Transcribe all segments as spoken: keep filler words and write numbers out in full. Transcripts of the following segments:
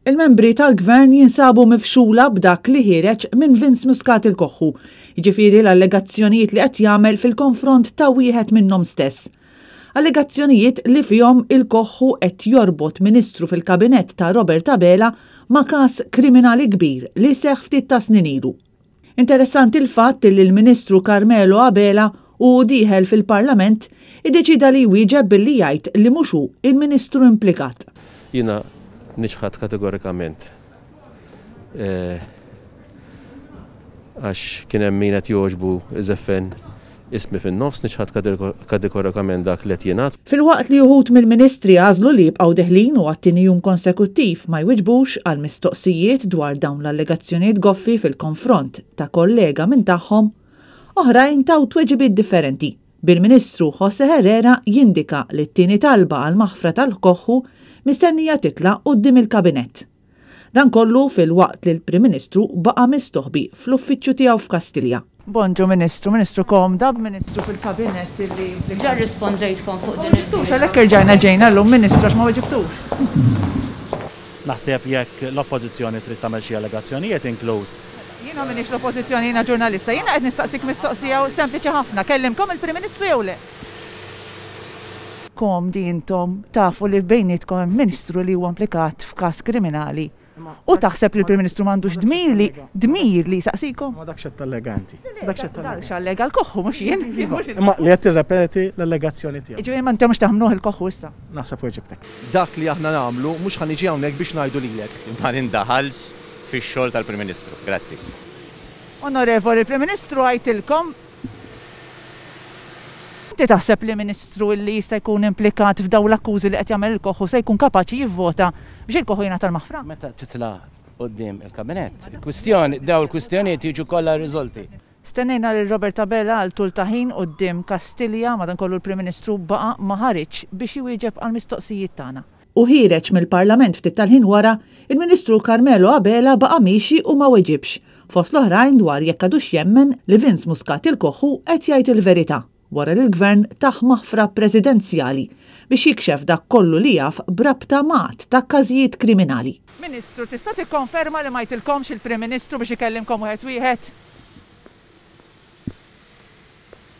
Il-membri tal-Gvern jinsabu mifxula b'dak li ħiereġ minn Vince Muscat il-Koħħu, jiġifieri l-allegazzjonijiet li qed jagħmel fil-konfront ta' wieħed minnhom stess. Allegazzjonijiet li fihom il-Koħħu qed jorbot ministru fil-kabinett ta' Robert Abela ma' każ kriminali kbir li seħħ ftit ta' snin ilu. Interessanti l-fatt li l-Ministru Carmelo Abela u dieħel fil-Parlament iddeċida li jwieġeb billi jgħid li mhux hu il-Ministru implikat. Jiena niċħad kategorikament għax kien hemm min qed jogħġbu iżeffen ismi fin-nofs, niċħad kategorikament dak li qed jingħad. Filwaqt li uħud mill-ministri għażlu li jibqgħu deħlin u għat-tieni jum konsekuttiv ma jwiġbux għal mistoqsijiet dwar dawn l-allegazzjonijiet goffi fil-konfront ta' kollega minn tagħhom, oħrajn taw tweġibiet differenti. Bil-Ministru Jose Herrera jindika li t-tieni talba għal maħfra tal-Koħħu mistennija titla' quddiem il-Kabinett. Dan kollu fil-waqt li l-Prim Ministru baqa' mistoħbi fl-uffiċċju tiegħu f'Kastilja. Bonġu Ministru, Ministru komda b'Ministru fil-Kabinett illi. Ġa rrispondejtkom fuq din il- Għalhekk irġajna ġejna llum, Ministru, għax ma weġibtux. Naħseb jekk l-Oppożizzjoni trid tagħmel xi allegazzjonijiet inkluż. Jiena m'iniex l-Oppożizzjoni, jiena ġurnalista. Jiena qed nistaqsik mistoqsija sempliċi ħafna. Kellimkom il-Prim Ministru jew le? Komdi intom tafu li bejnietkom hemm Ministru li huwa implikat f'każ kriminali. U taħseb li l-Prim Ministru m'għandux dmir li dmir li jsaqsikom? Ma dakx qed tallega inti. Dakx qed tallega. Dakx allega l-Koħħu mhux jien. Imma li qed tirrepeti l-allegazzjoni tiegħu. Jiġifieri ma intom mhux taħmnuh il-Koħħu issa. Naħseb weġibtek. Dak li aħna nagħmlu mhux ħa niġi hawnhekk biex ngħidu lilek. Ma nindaħalx fix-xogħol tal-Prim Ministru. Grazzi. Onorevoli, il-Prim Ministru għajtilkom. Inti taħseb li Ministru li jista' jkun implikat f'dawn l-akkużi li qed jagħmel il-Koħħu se jkun kapaċi jivvota biex il-Koħħu jingħata l-maħfra? Meta titla' quddiem il-Kabinett, il-kwistjoni, daw il-kwistjonijiet jiġu kollha riżolti. Stennejna lil Robert Abela għal tul ta' ħin quddiem Kastilja, madankollu l-Prim Ministru baqa' ma ħariġx biex iwieġeb għall-mistoqsijiet tagħna. U ħiereġ mill-Parlament ftit tal-ħin wara, il-Ministru Carmelo Abela baqa' miexi u ma weġibx, fost l-oħrajn dwar jekk għadux jemmen li Vince Muscat il-Koħħu qed jgħid il-verità wara li l-Gvern tah maħfra presidenzjali biex jikxef dak kollu li jaf b'rabta ma' għadd ta' każijiet kriminali. Ministru, tista' tikkonferma li ma jtilkomx il-Prim Ministru biex ikellimkom wieħed wieħed?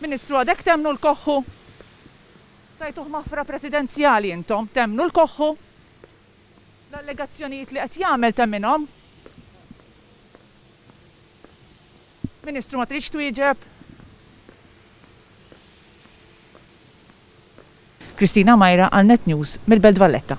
Ministru, għadek temmnu l-Koħħu? Tajtuh maħfra presidenzjali intom, temmnu l-Koħħu? L-allegazzjonijiet li qed jagħmel temminhom? Ministru, ma tridx twieġeb? Kristina Majra għal Net News mill-Belt Valletta.